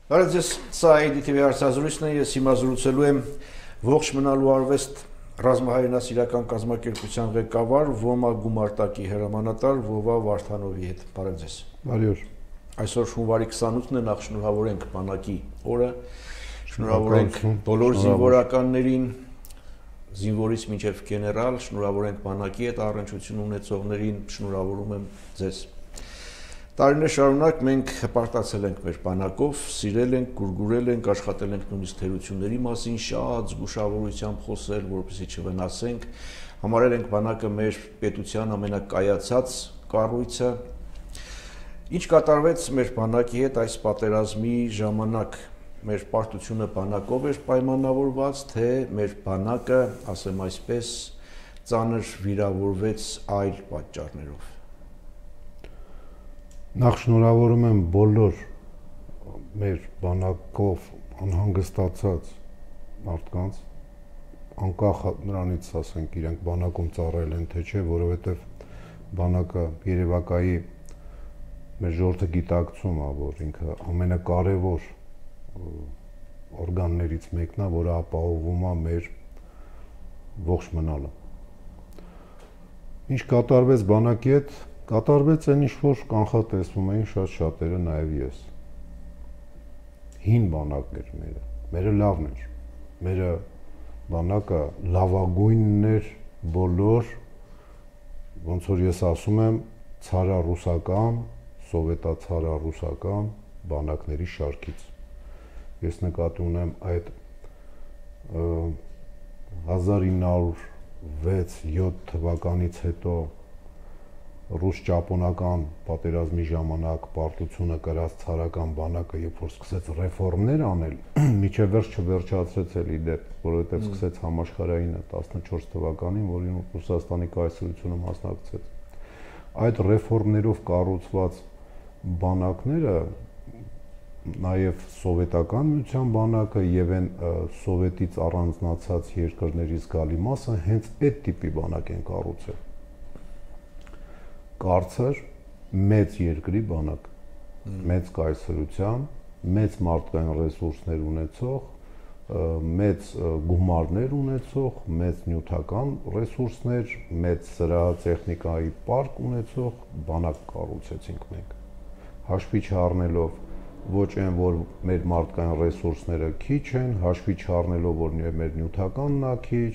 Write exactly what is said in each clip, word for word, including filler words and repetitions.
Բարև ձեզ, սա ա դի թի վի հարցազրույցն է, ես հիմա զրուցելու եմ ողջ մնալու արվեստ ռազմահայրենասիրական կազմակերպության ղեկավար ՈՄԱ գումարտակի հրամանատար Վովա Վարդանովի հետ։ Բարև ձեզ։ Բարև։ Այսօր հունվարի քսանութն է, նախ շնորհավորենք բանակի օրը, շնորհավորենք բոլոր զինվորականներին, զինվորից մինչև գեներալ, շնորհավորենք բանակի հետ առնչություն ունեցողներին, շնորհավորում եմ ձեզ։ Տարիներ շարունակ մենք հպարտացել ենք մեր բանակով, սիրել ենք, գուրգուրել ենք, աշխատել ենք նույնիսկ թերությունների մասին շատ զգուշավորությամբ խոսել, որպեսզի չվնասենք, համարել ենք բանակը մեր պետության ամենակայացած կառույցը։ Ինչ կատարվեց մեր բանակի հետ այս պատերազմի ժամանակ, մեր պարտությունը բանակով էր պայմանավորված, թե մեր բանակը, ասեմ այսպես, ծանր վիրավորվեց այլ պատճառներով։ Նախ շնորհավորում եմ բոլոր մեր բանակով անհանգստացած մարդկանց, անկախ նրանից, ասենք, իրենք բանակում ծառայել են թե չէ, որովհետև բանակը երևակայի մեր ժողովրդը գիտակցում է, որ ինքը ամենակարևոր օրգաններից մեկն է, որը ապահովում է մեր ողջ մնալը։ Ինչ կատարվեց բանակի հետ, կատարվեց այն ինչ-որ կանխատեսվում էին շատ շատերը, նաև ես։ Հին բանակն էր մերը, մերը լավն էր, մերը բանակը լավագույնն էր բոլոր, ոնց որ ես ասում եմ, ցարառուսական, սովետացարառուսական բանակների շարքից։ Ես նկատի ունեմ այդ հազար ինը հարյուր վեց յոթ թվականից հետո ռուս-ճապոնական պատերազմի ժամանակ պարտությունը կրած ցարական բանակը, երբ որ սկսեց ռեֆորմներ անել, միջև վերջ չվերջացրեց էլ իդեպ, որովհետև սկսեց համաշխարհայինը տասնչորս թվականին, որին Ռուսաստանի կայսրությունը մասնակցեց։ Այդ ռեֆորմներով կառուցված բանակները, նաև սովետական միության բանակը եւ այն սովետից առանձնացած երկրներից գալի մասը հենց այդ տիպի բանակ են կառուցել։ Կարծր մեծ երկրի բանակ, մեծ կայսրության, մեծ մարդկային ռեսուրսներ ունեցող, մեծ գումարներ ունեցող, մեծ նյութական ռեսուրսներ, մեծ սրահատեխնիկայի պարկ ունեցող բանակ կառուցեցինք մենք։ Հաշվի չառնելով ոչ այն, որ մեր մարդկային ռեսուրսները քիչ են, հաշվի չառնելով, որ մեր նյութականն է քիչ,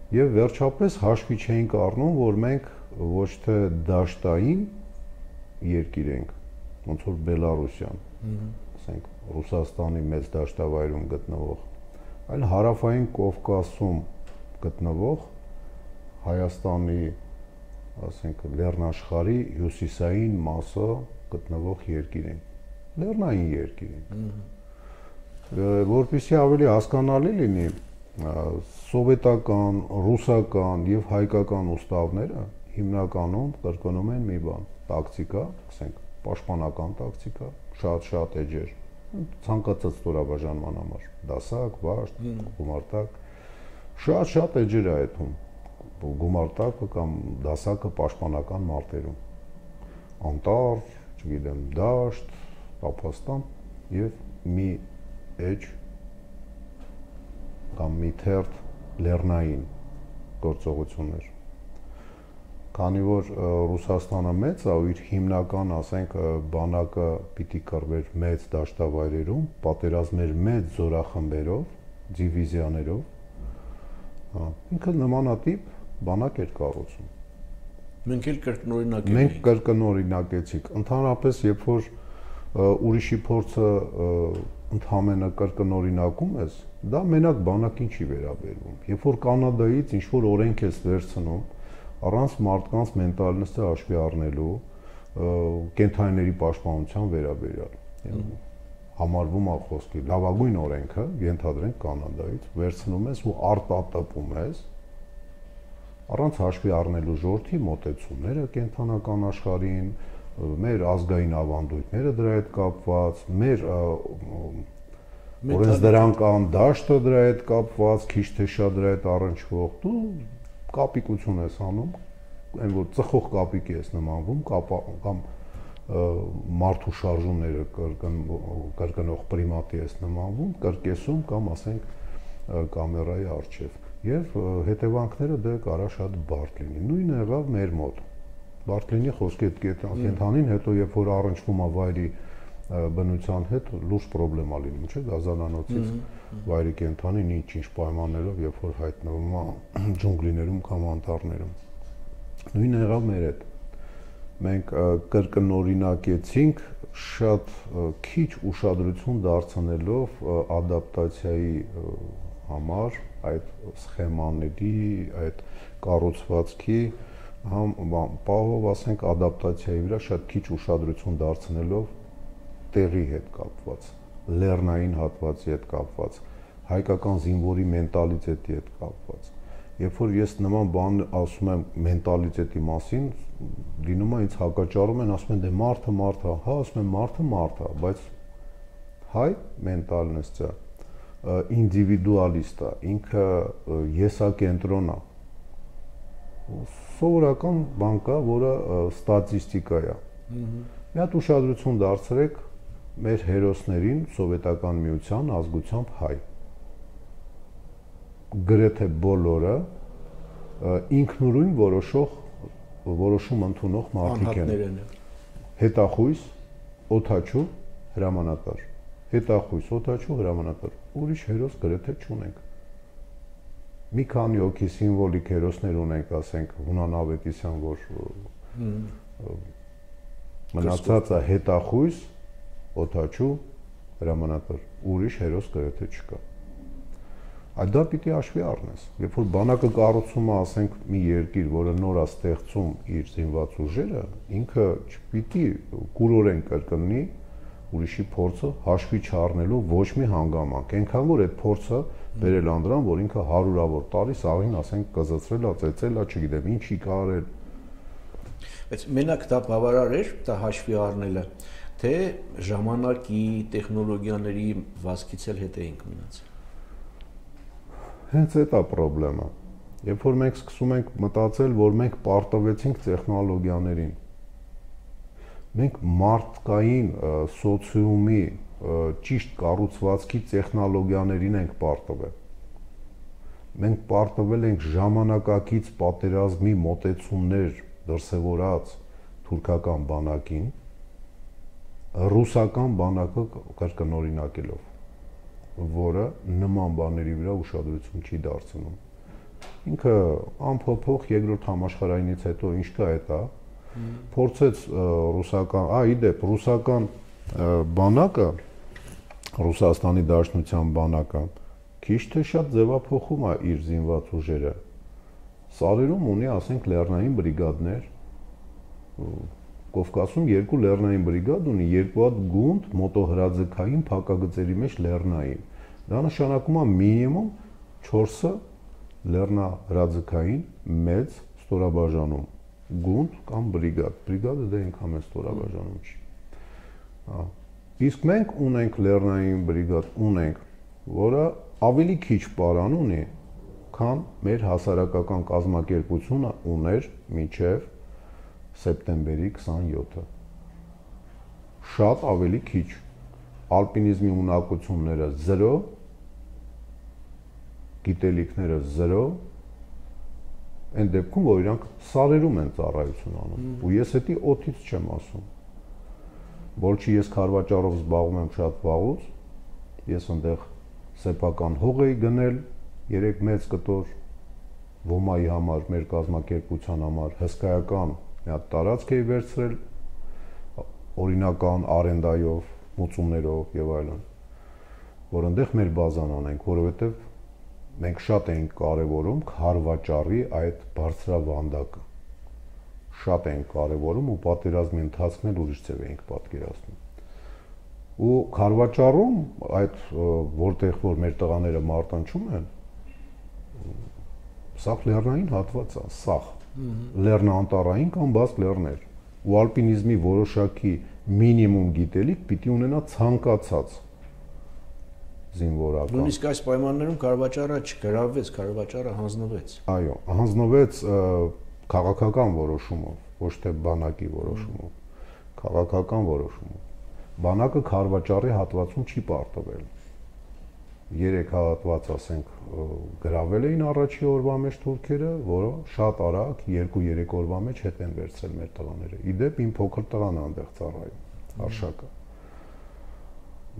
եւ վերջապես հաշվի չենք առնում, որ մենք ոչ թե դաշտային երկիր ենք, ոնց որ Բելարուսյան, ասենք Ռուսաստանի մեծ դաշտավայրում գտնվող, այլ հարավային Կովկասում գտնվող Հայաստանի, ասենք լեռնաշխարհի հյուսիսային մասը գտնվող երկիր ենք, լեռնային երկիր ենք, որպեսզի ավելի հասկանալի լինի, սովետական, ռուսական եւ հայկական ուստավները հիմնականում կրկնում են մի բան, տակտիկա, ասենք, պաշտպանական տակտիկա, շատ-շատ էջեր, ցանկացած ստորաբաժանման համար, դասակ, վաշտ, գումարտակ, շատ-շատ էջեր է այդում, գումարտակը կամ դասակը պաշտպանական մարտերում, անտառ, չգիտեմ, դաշտ, տափաստան եւ մի էջ կամ մի թերթ լեռնային գործողություններ։ Քանի որ Ռուսաստանը մեծ է ու իր հիմնական, ասենք, բանակը պիտի կռվեր մեծ դաշտավայրերում, պատերազմեր մեծ զորախմբերով, դիվիզիաներով, ինքը նմանատիպ բանակ էր կառուցում։ Մենք էլ կրկնօրինակել ենք։ Մենք կրկնօրինակեցինք։ Ընդհանրապես, երբ որ ուրիշի փորձը ընդհանրապես կրկնօրինակում ես, դա մենակ բանակին չի վերաբերվում։ Երբ որ Կանադայից ինչ որ օրենք ես վերցնում, առանց մարդկանց մենտալնեսը հաշվի առնելու, կենթանիների պաշտպանության վերաբերյալ, համարվում է խոսքի լավագույն օրենքը, ենթադրենք Կանադայից, վերցնում ես ու արտատպում ես, առանց հաշվի առնելու ժողովրդի մոտեցումները կենթանական աշխարհին, մեր ազգային ավանդույթները դրա հետ կապված, մեր օրենսդրական դաշտը դրա հետ կապված, քիչ թե շատ դրա հետ առնչվող, դու կապիկություն ես անում, այն որ ծխող կապիկի ես նմանվում, կամ մարդու շարժումները կրկնող պրիմատի ես նմանվում, կրկեսում կամ ասենք կամերայի առջև։ Եվ հետևանքները դե կարա շատ բարդ լինի։ Նույնը եղավ մեր մոտ։ Բարդ լինի խոսքի հետ կենթանին, հետո երբ որ առնչվում է վայրի բնության հետ, լուրջ պրոբլեմա լինում, չէ՞, գազանանոցից վայրի կենթանին ինչ-ինչ պայմաններով, երբ որ հայտնվում է ջունգլիներում կամ անտառներում։ Նույնը եղավ մեր հետ։ Մենք կրկնօրինակեցինք շատ քիչ ուշադրություն դարձնելով ադապտացիայի համար այդ սխեմաների, այդ կառուցվածքի համ պահով ասենք ադապտացիայի վրա շատ քիչ ուշադրություն դարձնելով տեղի հետ կապված, լեռնային հատվածի հետ կապված, հայկական զինվորի մենտալիտետի հետ կապված։ Երբ որ ես նման բան ասում եմ մենտալիտետի մասին, լինում է ինձ հակաճառում են, ասում են դե մարդը մարդ է, հա, ասում եմ մարդը մարդ է, բայց հայ մենտալնեսը ինդիվիդուալիստ է, ինքը եսակենտրոն է։ Սովորական բան կա, որը ստատիստիկա է։ Մի հատ ուշադրություն դարձրեք մեր հերոսներին Սովետական միության ազգությամբ հայ։ Գրեթե բոլորը ինքնուրույն որոշող որոշում ընդունող մարդիկ են։ Հետախույս, օդաչու, հրամանատար։ Հետախույս, օդաչու, հրամանատար։ Ուրիշ հերոս գրեթե չունենք։ Մի քանի հոգի սիմվոլիկ հերոսներ ունենք, ասենք Հունան Ավետիսյան, որ մնացածը հետախույս, օդաչու, հրամանատար։ Ուրիշ հերոս գրեթե չկա։ Այդ դա պիտի հաշվի առնես։ Երբ որ բանակը կառուցում է, ասենք, մի երկիր, որը նոր է ստեղծում իր զինված ուժերը, ինքը չպիտի կուրորեն կրկնի ուրիշի փորձը հաշվի չառնելու ոչ մի հանգամանք։ Այնքան որ այդ փորձը բերել անդրան, որ ինքը հարյուրավոր տարի սաղին, ասենք, կզծրել է, ծեծել է, չգիտեմ, ինչի կարել։ Բայց մենակ դա բավարար էր, դա հաշվի առնելը, թե ժամանակի, տեխնոլոգիաների վազքից էլ հետ էինք մնացել։ Հենց այդ է պրոբլեմը։ Երբ որ մենք սկսում ենք մտածել, որ մենք պարտվեցինք տեխնոլոգիաներին, մենք մարդկային սոցիումի ճիշտ կառուցվածքի տեխնոլոգիաներին ենք պարտվել։ Մենք պարտվել ենք ժամանակակից պատերազմի մոտեցումներ դրսևորած թուրքական բանակին, ռուսական բանակը կրկնօրինակելով, որը նման բաների վրա ուշադրություն չի դարձնում։ Ինքը անփոփոխ երկրորդ համաշխարհայինից հետո ինչ կա այդ է, փորձեց ռուսական, ա իդեպ ռուսական բանակը, Ռուսաստանի Դաշնության բանակը քիչ թե շատ ձևափոխում է իր զինված ուժերը։ Սարերում ունի, ասենք, լեռնային բրիգադներ, Կովկասում երկու լեռնային բրիգադ ունի, երկու հատ գունդ մոտոհրաձգային փակագծերի մեջ լեռնային։ Դա նշանակում է մինիմում չորսը լեռնահրաձգային մեծ ստորաբաժանում, գունդ կամ բրիգադ։ Բրիգադը դե այնքան մեծ ստորաբաժանում չի։ Իսկ մենք ունենք լեռնային բրիգադ, ունենք, որը ավելի քիչ պարան ունի, քան մեր հասարակական կազմակերպությունը ուներ մինչև սեպտեմբերի քսաներկուսը։ Շատ ավելի քիչ։ Ալպինիզմի ունակությունները զրո, գիտելիքները զրո, այն դեպքում, որ իրանք սարերում են ծառայություն անում։ Ու ես էդի օդից չեմ ասում։ Որ չի ես քարվաճառով զբաղվում եմ շատ վաղուց, ես այնտեղ սեփական հող էի գնել, երեք մեծ կտոր ոմայի համար, մեր կազմակերպության համար հսկայական մի հատ տարածք էի վերցրել օրինական արենդայով, մուծումներով եւ այլն, որ այնտեղ մեր բազան անենք, որովհետեւ մենք շատ էինք կարևորում քարվաճառի այդ բարձրավանդակը։ Շատ էինք կարևորում ու պատերազմի ընթացքն էլ ուրիշ ձև էինք պատկերացնում։ Ու քարվաճառում այդ որտեղ որ մեր տղաները մարտնչում են, սաղ լեռնային հատված է, սաղ լեռնանտառային կամ բաց լեռներ, ու ալպինիզմի որոշակի մինիմում գիտելիք պիտի ունենա ցանկացած զինվորական։ Նույնիսկ այս պայմաններում քարվաճառը չգրավվեց, քարվաճառը հանձնվեց։ Այո, հանձնվեց քաղաքական որոշումով, ոչ թե բանակի որոշումով։ քաղաքական որոշումով։ Բանակը քարվաճառի հատվածում չի պարտվել։ Երեք հատված, ասենք, գրավել էին առաջի օրվա մեջ թուրքերը, որը շատ արագ երկու-երեք օրվա մեջ հետ են վերցրել մեր տղաները։ Իդեպ իմ փոքր տղան այնտեղ ծառայում, Արշակը։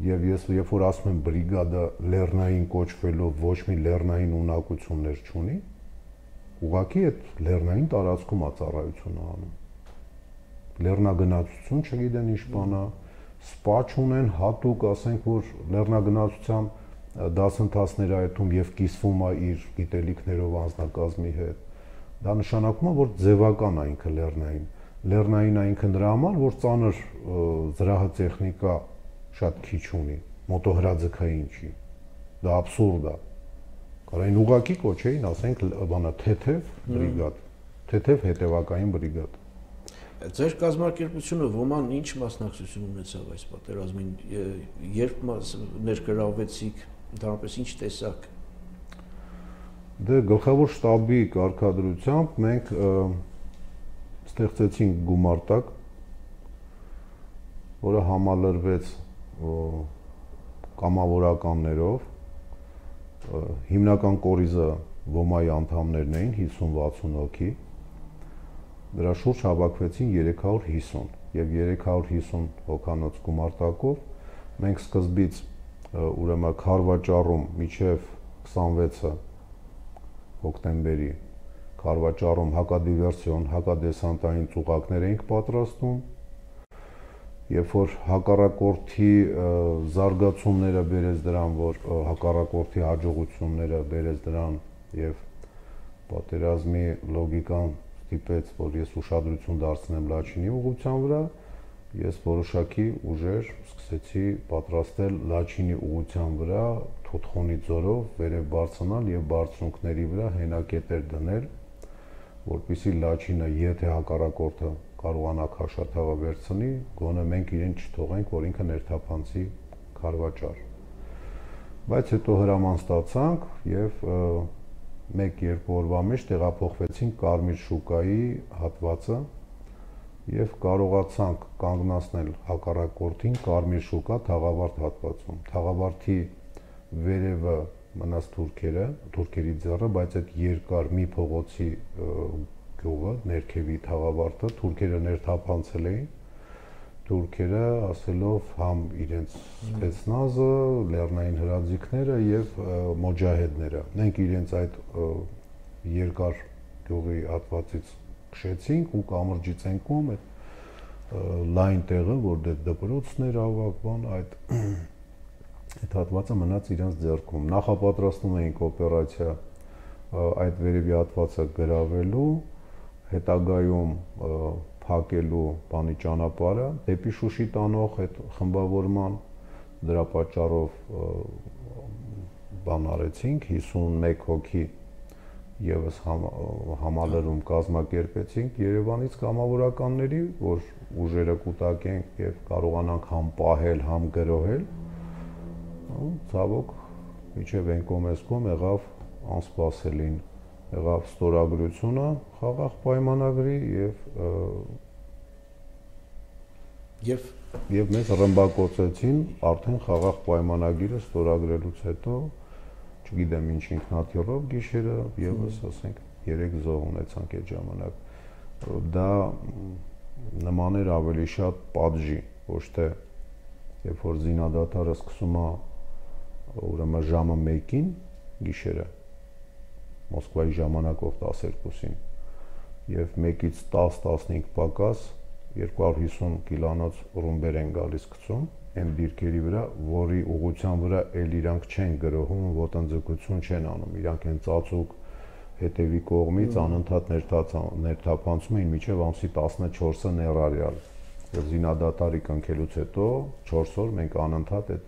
Եվ ես երբ որ ասում եմ բրիգադը լեռնային կոչվելով ոչ մի լեռնային ունակություններ չունի, ուղղակի այդ լեռնային տարածքում է ծառայությունը անում։ Լեռնագնացություն չգիտեն ինչ բան է, սպա չունեն հատուկ, ասենք, որ լեռնագնացության դասընթացներ այդում եւ կիսվում է իր գիտելիքներով անձնակազմի հետ։ Դա նշանակում է, որ ձևական է ինքը լեռնային։ Լեռնային է ինքը նրա համար, որ ծանր զրահ տեխնիկա շատ քիչ ունի, մոտոհրաձգային չի։ Դա աբսուրդ է։ Կարային ուղակի կոչեին, ասենք, բանա թեթև բրիգադ, թեթև հետևակային բրիգադ։ Ձեր կազմակերպությունը ոման ինչ մասնակցություն ունեցավ այս պատերազմին, երբ ներգրավվեցիք, ընդհանրապես ինչ տեսակ։ Դե գլխավոր շտաբի կարգադրությամբ մենք ստեղծեցինք գումարտակ, որը համալրվեց կամավորականներով, հիմնական կորիզը ոմայի անդամներն էին հիսուն-վաթսուն հոգի, դրա շուրջ հավաքվեցին երեք հարյուր հիսուն եւ երեք հարյուր հիսուն հոգանոց գումարտակով մենք սկզբից ուրեմն քարվաճառում միջև քսանվեցը հոկտեմբերի քարվաճառում հակադիվերսիոն, հակադեսանտային ծուղակներ էինք պատրաստում, երբ որ հակառակորդի զարգացումները բերեց դրան, որ հակառակորդի հաջողությունները բերեց դրան եւ պատերազմի լոգիկան ստիպեց, որ ես ուշադրություն դարձնեմ Լաչինի ուղղության վրա, ես որոշակի ուժեր սկսեցի պատրաստել Լաչինի ուղղության վրա Թոթխոնի ձորով վերև բարձրանալ եւ բարձունքների վրա հենակետեր դնել, որպեսզի Լաչինը, եթե հակառակորդը կարողանա քաշաթաղը վերցնի, գոնե մենք իրեն չթողենք, որ ինքը ներթափանցի քարվաճառ։ Բայց հետո հրաման ստացանք եւ մեկ-երկու օրվա մեջ տեղափոխվեցինք Կարմիր շուկայի հատվածը եւ կարողացանք կանգնացնել հակառակորդին Կարմիր շուկա Թաղավարտ հատվածում։ Թաղավարտի վերևը մնաց թուրքերը, թուրքերի ձեռը, բայց այդ երկար մի փողոցի գյուղը, ներքևի Թաղավարտը թուրքերը ներթափանցել էին։ Թուրքերը ասելով համ իրենց սպեցնազը, լեռնային հրաձիգները եւ մոջահեդները։ Մենք իրենց այդ երկար գյուղի հատվածից քշեցինք ու կամրջից ենքում այդ լայն տեղը, որ դե դպրոցն էր ավակ, բան, այդ այդ հատվածը մնաց իրենց ձեռքում։ Նախապատրաստում էինք օպերացիա այդ վերևի հատվածը գրավելու, հետագայում փակելու բանի ճանապարհը դեպի Շուշի տանող այդ խմբավորման, դրա պատճառով բան արեցինք, հիսունմեկ հոգի եւս համ, համալրում կազմակերպեցինք Երևանից կամավորականների, որ ուժերը կուտակենք եւ կարողանանք համ պահել, համ գրոհել։ Ու ցավոք միջև Էնկոմեսկոմ եղավ անսպասելին, եղավ ստորագրությունը խաղաղ պայմանագրի եւ եւ եւ մեզ ռմբակոծեցին արդեն խաղաղ պայմանագիրը ստորագրելուց հետո, չգիտեմ ինչ ինքնաթիռով գիշերը եւս ասենք երեք զոհ ունեցանք այդ ժամանակ։ Դա նման էր ավելի շատ պատժի, ոչ թե երբ որ զինադատարը սկսում է ուրեմն ժամը մեկին գիշերը Մոսկվայի ժամանակով տասներկուսին եւ մեկից տաս տասնհինգ պակաս երկու հարյուր հիսուն կիլոնոց ռումբեր են գալիս գցում այն դիրքերի վրա, որի ուղղության վրա էլ իրանք չեն գրոհում, ոտնձգություն չեն անում, իրանք են ծածուկ հետևի կողմից անընդհատ ներթափանցում էին մինչև ամսի տասնչորսը ներառյալ։ Եվ զինադատարի կնքելուց հետո չորս օր մենք անընդհատ այդ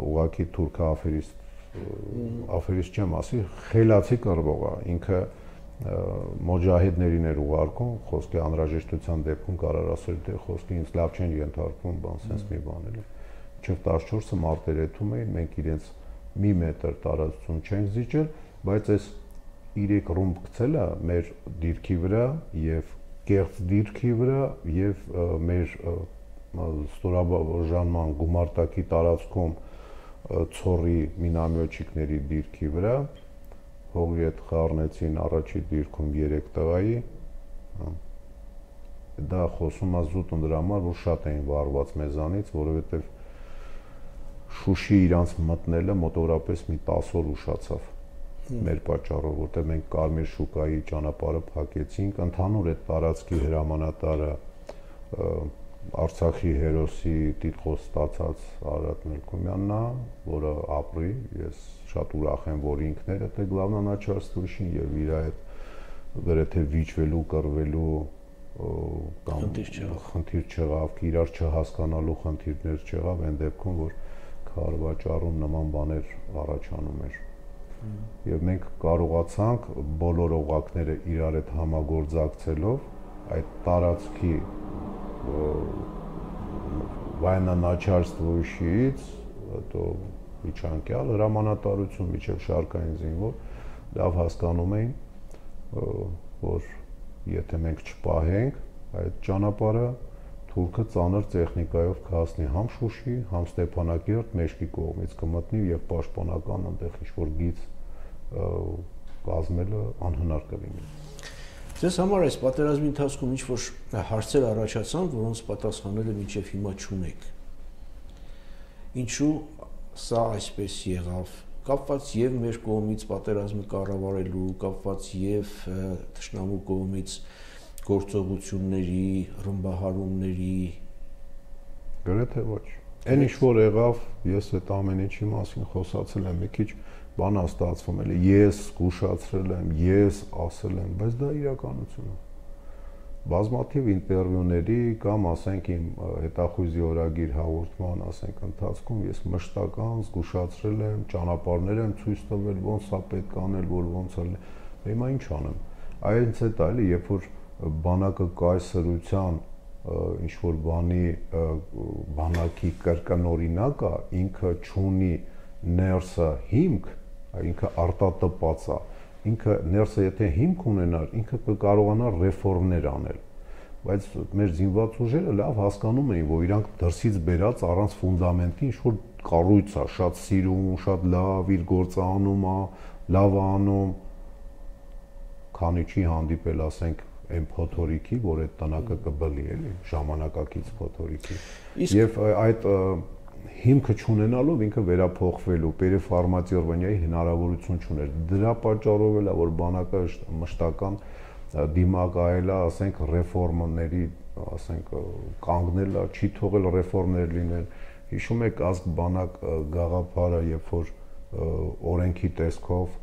ուղակի թուրքը աֆերիստ աֆերիստ չեմ ասի, խելացի կռվողը, ինքը մոջահեդներին էր ուղարկում, խոսքի անհրաժեշտության դեպքում կարող ասել, թե խոսքի ինձ լավ չեն ենթարկվում, բան sense մի բան էլի։ Մինչև տասնչորսը մարտերեթում էին, մենք իրենց մի մետր տարածություն չենք զիջել, բայց այս երեք ռումբ գցելը մեր դիրքի վրա եւ կեղծ դիրքի վրա եւ մեր ստորաբաժանման գումարտակի տարածքում ցորի մինամյոչիկների դիրքի վրա հողի հետ խառնեցին առաջի դիրքում երեք տղայի դա խոսում է զուտ դրա համար որ շատ էին վարված մեզանից որովհետեւ Շուշի իրանց մտնելը մոտավորապես մի տասը օր ուշացավ մեր պատճառով որտեղ մենք Կարմիր շուկայի ճանապարհը փակեցինք ընդհանուր այդ տարածքի հրամանատարը Արցախի հերոսի տիտղոս ստացած Արարատ Մելքոմյանն է, որը ապրի, ես շատ ուրախ եմ, որ ինքն էր այդ գլավնանաչարստուշին եւ իր այդ գրեթե վիճվելու, կռվելու կամ խնդիր չեղավ, իրար չհասկանալու խնդիրներ չեղավ, այն դեպքում, որ քարվաճառում նման բաներ առաջանում էր։ Եվ մենք կարողացանք բոլոր օղակները իրար հետ համագործակցելով այդ տարածքի военно-начальствующийից հետո միջանկյալ հրամանատարություն միջև շարքային զինվոր լավ հասկանում էին որ եթե մենք չպահենք այդ ճանապարհը թուրքը ծանր տեխնիկայով կհասնի համ Շուշի, համ Ստեփանակերտ մեջքի կողմից կմտնի եւ պաշտպանական այնտեղ ինչ-որ գիծ կազմելը անհնար կլինի։ Ձեզ համար այս պատերազմի ընթացքում ինչ-որ հարցեր առաջացան, որոնց պատասխանները մինչև հիմա չունեք։ Ինչու սա այսպես եղավ, կապված եւ մեր կողմից պատերազմը կառավարելու, կապված եւ թշնամու կողմից գործողությունների, ռմբահարումների գրեթե ոչ։ Այն ինչ որ եղավ, ես այդ ամեն ինչի մասին խոսացել եմ մի քիչ բանա ստացվում էլի, ես զգուշացրել եմ, ես ասել եմ, բայց դա իրականություն է։ Բազմաթիվ ինտերվյուների կամ ասենք իմ հետախույզի օրագիր հաղորդման, ասենք ընթացքում ես մշտական զգուշացրել եմ, ճանապարհներ եմ ցույց տվել, ոնց է պետք անել, որ ոնց է։ Հիմա ինչ անեմ։ Այնց է դա էլի, երբ որ բանակը կայսրության ինչ որ բանի բանակի կրկնօրինակ է, ինքը չունի ներսը հիմք, ինքը արտատպած է, ինքը ներսը եթե հիմք ունենար, ինքը կկարողանար ռեֆորմներ անել, բայց մեր զինված ուժերը լավ հասկանում էին, որ իրանք դրսից բերած առանց ֆունդամենտի ինչ որ կառույց է, շատ սիրուն, շատ լավ, իր գործը անում է, լավ է անում, քանի չի հանդիպել, ասենք այն փոթորիկի, որ այդ տնակը կբլի էլի, ժամանակակից փոթորիկի։ Եվ այդ հիմքը չունենալով ինքը վերափոխվելու, պերեֆարմացիոնայի հնարավորություն չուներ։ Դրա պատճառով էլ է, որ բանակը մշտական դիմակայել է, ասենք ռեֆորմների, ասենք կանգնել է, չի թողել ռեֆորմներ լինել։ Հիշում եք ազգ բանակ գաղափարը, երբ որ օրենքի տեսքով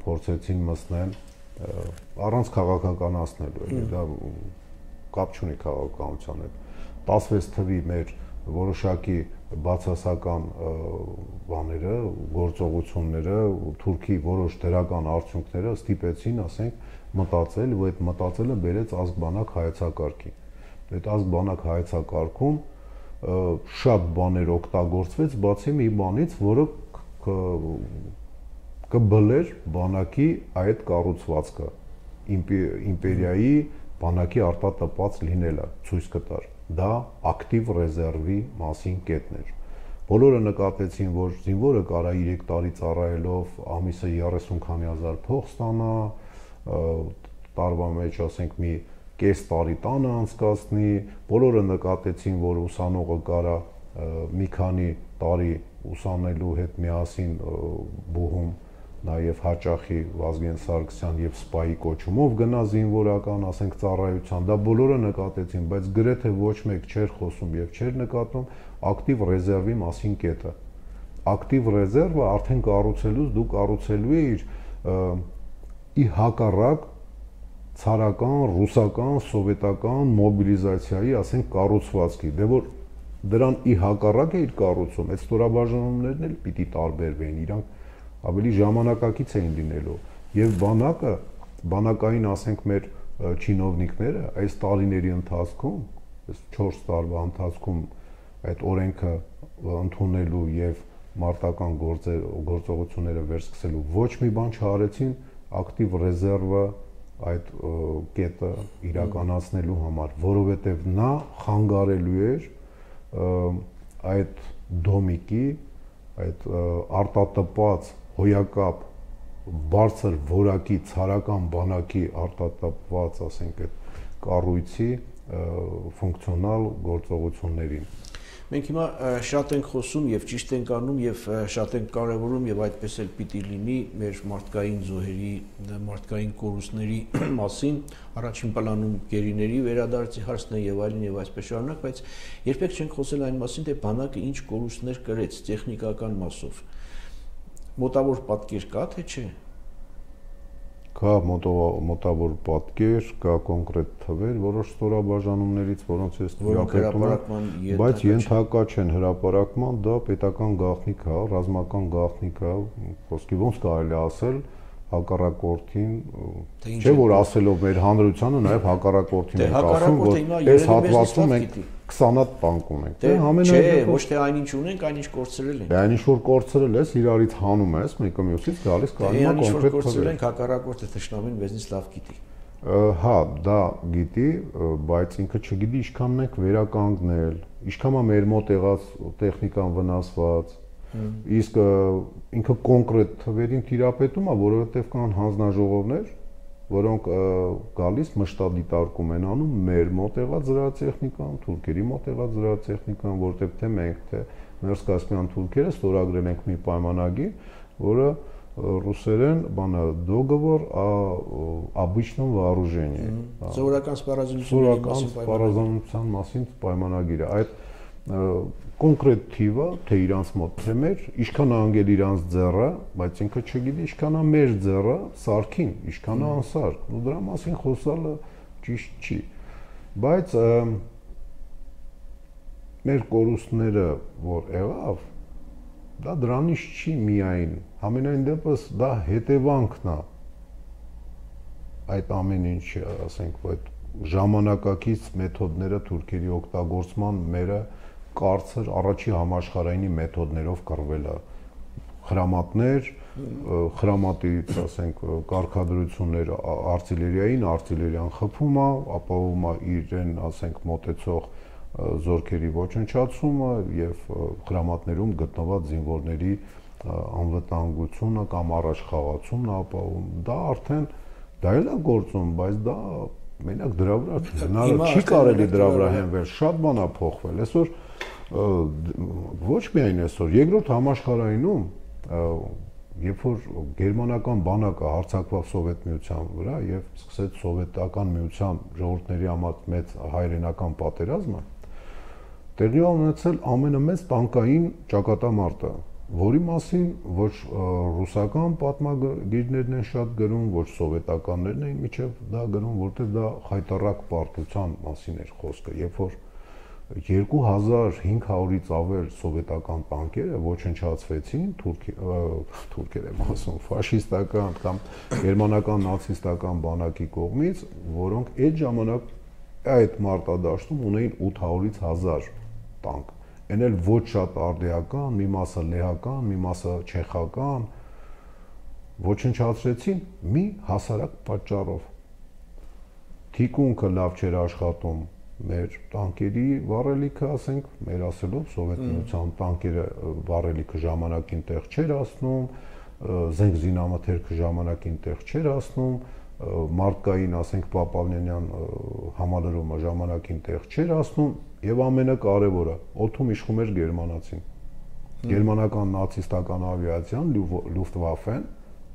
փորձեցին մտնել առանց քաղաքականացնելու, էլի դա կապ չունի քաղաքականության հետ։ տասնվեց թվի մեր որոշակի բացասական բաները, գործողությունները, Թուրքի որոշ դրական արդյունքները ստիպեցին, ասենք, մտածել, ու այդ մտածելը բերեց ազգ-բանակ հայեցակարգի։ Այդ ազգ-բանակ հայեցակարգում շատ բաներ օգտագործվեց, բացի մի բանից, որը կբլեր բանակի այդ կառուցվածքը, իմպերիայի բանակի արտատպած լինելը ցույց կտար։ Դա ակտիվ ռեզերվի մասին կետն էր։ Բոլորը նկատեցին, որ զինվորը կարա երեք տարի ծառայելով ամիսը երեսուն քանի հազար փող ստանա, տարվա մեջ ասենք մի կես տարի տանը անցկացնի, բոլորը նկատեցին, որ ուսանողը կարա մի քանի տարի ուսանելու հետ միասին բուհում նաև հաճախի Վազգեն Սարգսյան եւ սպայի կոչումով գնա զինվորական, ասենք ծառայության, դա բոլորը նկատեցին, բայց գրեթե ոչ մեկ չէր խոսում եւ չէր նկատում ակտիվ ռեզերվի մասին կետը։ Ակտիվ ռեզերվը արդեն կառուցելուց դու կառուցելու ես ի հակառակ ցարական, ռուսական, սովետական մոբիլիզացիայի, ասենք կառուցվածքի, դե որ դրան ի հակառակ է իր կառուցում, այդ ստորաբաժանումներն էլ պիտի տարբերվեն, իրանք ավելի ժամանակակից էին լինելու եւ բանակը, բանակային ասենք մեր չինովնիկները այս տարիների ընթացքում, այս չորս տարվա ընթացքում այդ օրենքը ընդունելու եւ մարտական գործեր գործողությունները վերսկսելու ոչ մի բան չարեցին ակտիվ ռեզերվը այդ կետը իրականացնելու համար, որովհետև նա խանգարելու էր այդ դոմիկի, այդ արտատպված հոյակապ բարձր որակի ցարական բանակի արտատպված, ասենք, այդ կառույցի ֆունկցիոնալ գործողություններին։ Մենք հիմա շատ ենք խոսում եւ ճիշտ ենք անում եւ շատ ենք կարեւորում եւ այդպես էլ պիտի լինի մեր մարդկային զոհերի, մարդկային կորուստների մասին, առաջին պլանում գերիների վերադարձի հարցն է եւ այլն եւ այսպես շարունակ, բայց երբեք չենք խոսել այն մասին, թե բանակը ինչ կորուստներ կրեց տեխնիկական մասով։ Մոտավոր պատկեր կա, թե չէ։ Կա մոտավոր պատկեր, կա կոնկրետ թվեր, որոշ ստորաբաժանումներից, որոնց ես տիրապետում եմ, բայց ենթակա չեն հրապարակման, դա պետական գաղտնիք է, ռազմական գաղտնիք է, խոսքի ոնց կարելի ասել, հակառակորդին, չէ որ ասելով մեր հանրությանը նաև հակառակորդին ենք ասում, որ այս հատվածում մենք քսան հատ տանկ ունենք։ Դե ամենայնիվ ոչ թե այնինչ ունենք, այնինչ կորցրել ենք։ Դե այնինչ որ կորցրել ես, իրարից հանում ես, մեկը մյուսից գալիս կարողա կոնկրետ կորցրել ենք, հակառակորդը թշնամին մեզնից լավ գիտի։ Հա, դա գիտի, բայց ինքը չգիտի ինչքան մենք վերականգնել, ինչքան է մեր մոտ եղած տեխնիկան վնասված, իսկ ինքը կոնկրետ թվերին տիրապետում է, որովհետև կան հանձնաժողովներ, որոնք գալիս մշտադիտարկում են անում մեր մոտ եղած զրահատեխնիկան, թուրքերի մոտ եղած զրահատեխնիկան, որտեղ թե մենք, թե Մերսկասպյան թուրքերը ստորագրել ենք մի պայմանագիր, որը ռուսերեն բանը договор о обычном вооружении։ Սովորական սպառազինության մասին պայմանագիրը։ Այդ կոնկրետ թիվը, թե իրանց մոտ թե մեր, ինչքան է անգել իրանց ձեռը, բայց ինքը չգիտի ինչքան է մեր ձեռը սարքին, ինչքան է անսարք, ու դրա մասին խոսալը ճիշտ չի։ Բայց մեր կորուստները, որ եղավ, դա դրանից չի միայն, համենայն դեպս դա հետևանքն է այդ ամեն ինչի, ասենք, այդ ժամանակակից մեթոդները թուրքերի օգտագործման մերը կարծր առաջի համաշխարհայինի մեթոդներով կռվելը, խրամատներ, խրամատից, ասենք, կարգադրություններ արտիլերիային, արտիլերիան խփում է, ապահովում է իրեն, ասենք, մոտեցող զորքերի ոչնչացումը եւ խրամատներում գտնված զինվորների անվտանգությունը կամ առաջխաղացումն է ապահովում։ Դա արդեն դա էլ է գործում, բայց դա մենակ դրա վրա հնարավոր չի կարելի դրա վրա հենվել, շատ բան է փոխվել։ Այսօր ոչ միայն այսօր, երկրորդ համաշխարհայինում, երբ որ գերմանական բանակը հարձակվավ Սովետ միության վրա եւ սկսեց սովետական միության ժողովուրդների համար մեծ հայրենական պատերազմը, տեղի ունեցել ամենամեծ տանկային ճակատամարտը, որի մասին ոչ ռուսական պատմագիրներն են շատ գրում, ոչ սովետականներն են միջև դա գրում, որտեղ դա խայտառակ պարտության մասին էր խոսքը, երբ որ երկու հազար հինգ հարյուրից ավել սովետական տանկերը ոչնչացվեցին թուրքեր եմ ասում, ֆաշիստական կամ գերմանական նացիստական բանակի կողմից, որոնք այդ ժամանակ այդ մարտադաշտում ունեին ութ հարյուրից հազար տանկ, այն էլ ոչ շատ արդիական, մի մասը լեհական, մի մասը չեխական, ոչնչացրեցին մի հասարակ պատճառով։ Թիկունքը լավ չէր աշխատում մեր տանկերի վառելիքը, ասենք, մեր ասելով Սովետ միության տանկերը վառելիքը ժամանակին տեղ չէր հասնում, զենք զինամթերքը ժամանակին տեղ չէր հասնում, մարդկային, ասենք, Պապավնյանյան համալրումը ժամանակին տեղ չէր հասնում եւ ամենակարևորը, օդում իշխում էր գերմանացին։ Գերմանական նացիստական ավիացիան, Luftwaffe-ն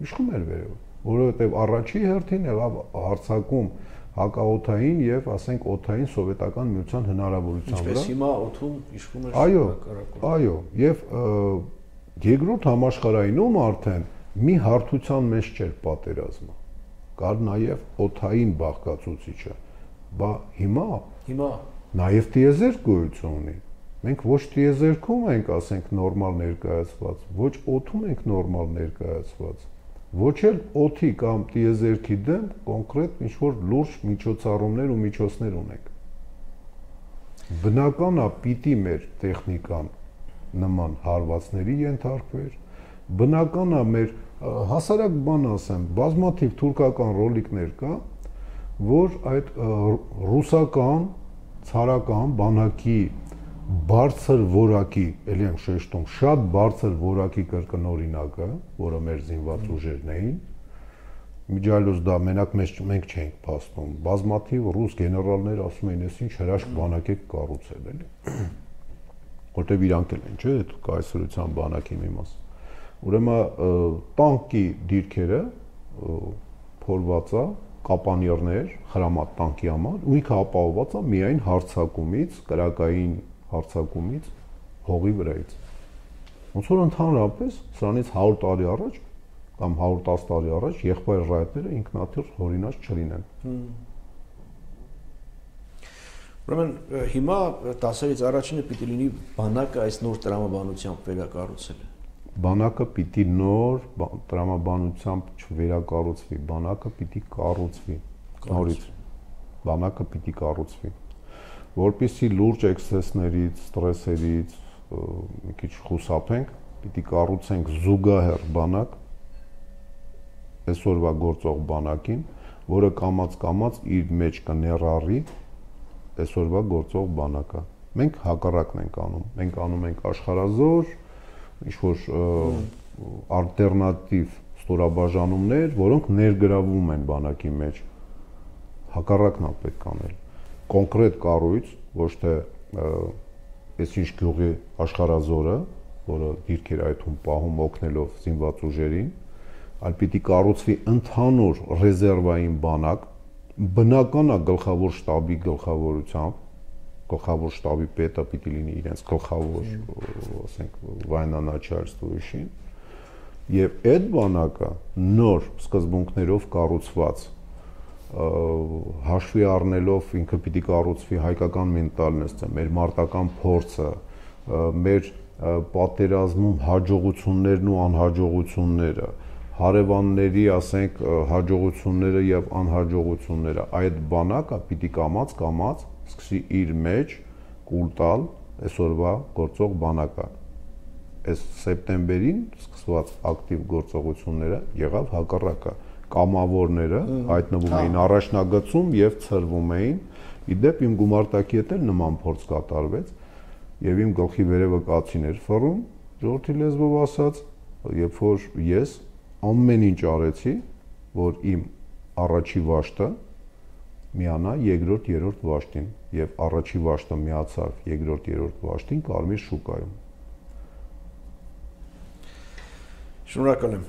իշխում էր վերև, որովհետեւ առաջի հերթին եղավ հարձակում հակաօդային եւ, ասենք, օդային սովետական միության հնարավորության վրա։ Ինչպես հիմա օդում իշխում էր հակառակորդը։ Այո, եւ երկրորդ համաշխարհայինում արդեն մի հարթության մեջ չէր պատերազմը։ Կար նաեւ օդային բաղկացուցիչը։ Բա հիմա հիմա նաեւ տիեզերք գոյություն ունի։ Մենք ոչ տիեզերքում ենք, ասենք, նորմալ ներկայացված, ոչ օդում ենք նորմալ ներկայացված։ Ոչ էլ օդի կամ տիեզերքի դեմ կոնկրետ ինչ-որ լուրջ միջոցառումներ ու միջոցներ ունենք։ Բնական է պիտի մեր տեխնիկան նման հարվածների ենթարկվեր, բնական է մեր Հասարակ բան ասեմ, բազմաթիվ թուրքական ռոլիկներ կա, որ այդ ռուսական ցարական բանակի բարձր որակի, ելի ենք շեշտում, շատ բարձր որակի կրկնօրինակը, որը մեր զինված ուժերն էին, միջայլոց դա մենակ մենք չենք փաստում, բազմաթիվ ռուս գեներալներ ասում էին, ես ինչ հրաշք բանակ եք կառուցել, էլի, որտեվ իրանք էլ են, չէ, այդ կայսրության բանակի մի մաս։ Ուրեմն տանկի դիրքերը փորված է, կապանյերներ, խրամատ տանկի համար, ու ինքը ապահովված է միայն հարձակումից, կրակային հարձակումից, հողի վրայից։ Ոնց որ ընդհանրապես սրանից հարյուր տարի առաջ կամ հարյուր տասը տարի առաջ եղբայր ռայետները ինքնաթիռ հորինած չլինեն։ Ուրեմն հիմա տասերից առաջինը պիտի լինի բանակը այս նոր տրամաբանությամբ վերակառուցելը։ Բանակը պիտի նոր տրամաբանությամբ չվերակառուցվի, բանակը պիտի կառուցվի, նորից, բանակը պիտի կառուցվի, որպեսզի լուրջ էքսեսներից, ստրեսերից մի քիչ խուսափենք, պիտի կառուցենք զուգահեռ բանակ, այսօրվա գործող բանակին, որը կամաց-կամաց իր մեջ կներառի այսօրվա գործող բանակը։ Մենք հակառակն ենք անում, մենք անում ենք աշխարհազոր, ինչ-որ ալտերնատիվ ստորաբաժանումներ, որոնք ներգրավում են բանակի մեջ, հակառակն է պետք անել, կոնկրետ կառույց, ոչ թե այսինչ գյուղի աշխարհազորը, որը դիրքեր այդում պահում օգնելով զինված ուժերին, այլ պիտի կառուցվի ընդհանուր ռեզերվային բանակ, բնական է գլխավոր շտաբի գլխավորությամբ, գլխավոր շտաբի պետը պիտի լինի իրենց գլխավոր, ասենք, военно-начальствующий, եւ այդ բանակը նոր սկզբունքներով կառուցված, հաշվի առնելով ինքը պիտի կառուցվի հայկական մենտալնեսը, մեր մարտական փորձը, մեր պատերազմում հաջողություններն ու անհաջողությունները, հարևանների, ասենք, հաջողությունները եւ անհաջողությունները, այդ բանակը պիտի կամաց-կամաց սկսի իր մեջ կուլ տալ այսօրվա գործող բանակը։ Այս սեպտեմբերին սկսված ակտիվ գործողությունները եղավ հակառակը, կամավորները հայտնվում էին առաջնագծում եւ ցրվում էին, իդեպ իմ գումարտակի հետ էլ նման փորձ կատարվեց եւ իմ գլխի վերևը կացին էր ֆռում, ժողովրդի լեզվով ասած, երբ որ ես ամեն ինչ արեցի, որ իմ առաջի վաշտը միանա երկրորդ, երրորդ վաշտին եւ առաջի վաշտը միացավ երկրորդ, երրորդ վաշտին Կարմիր շուկայում։ Շնորհակալ եմ։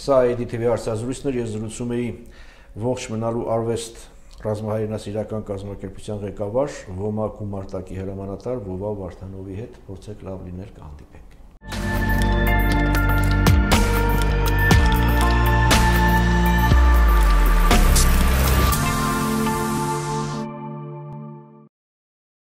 Սա է դի թի վի հարցազրույցն էր, ես զրուցում էի ողջ մնալու արվեստ ռազմահայրենասիրական կազմակերպության ղեկավար ՈՄԱ գումարտակի հրամանատար Վովա Վարդանովի հետ, փորձեք լավ լինել, կհանդիպենք։